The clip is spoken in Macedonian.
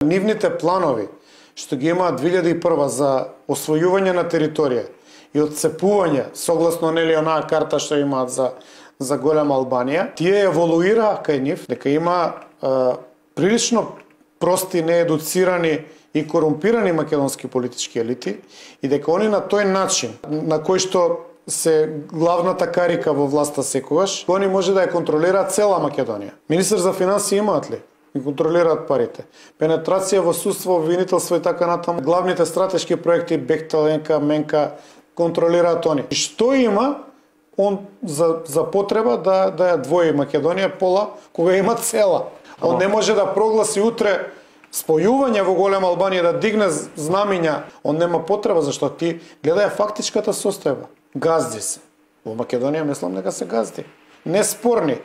Нивните планови што ги имаат 2001 за освојување на територија и отцепување согласно онаа карта што имаат за голема Албанија, тие еволуираа кај нив дека има прилично прости, неедуцирани и корумпирани македонски политички елити и дека они на тој начин на кој што се главната карика во власта секогаш, они може да ја контролираат цела Македонија. Министер за финансии имаат ли? И контролираат парите. Пенетрација во судство, обвинителство и така натаму. Главните стратешки проекти Бехтел, ЕНКА, МЕНКА контролираат они. И што има он за потреба да ја двои Македонија пола кога има цела? Он не може да прогласи утре спојување во голема Албанија, да дигне знамиња. Он нема потреба, зашто ти гледај фактичката состојба. Газди се. Во Македонија мислам дека се газди. Неспорни.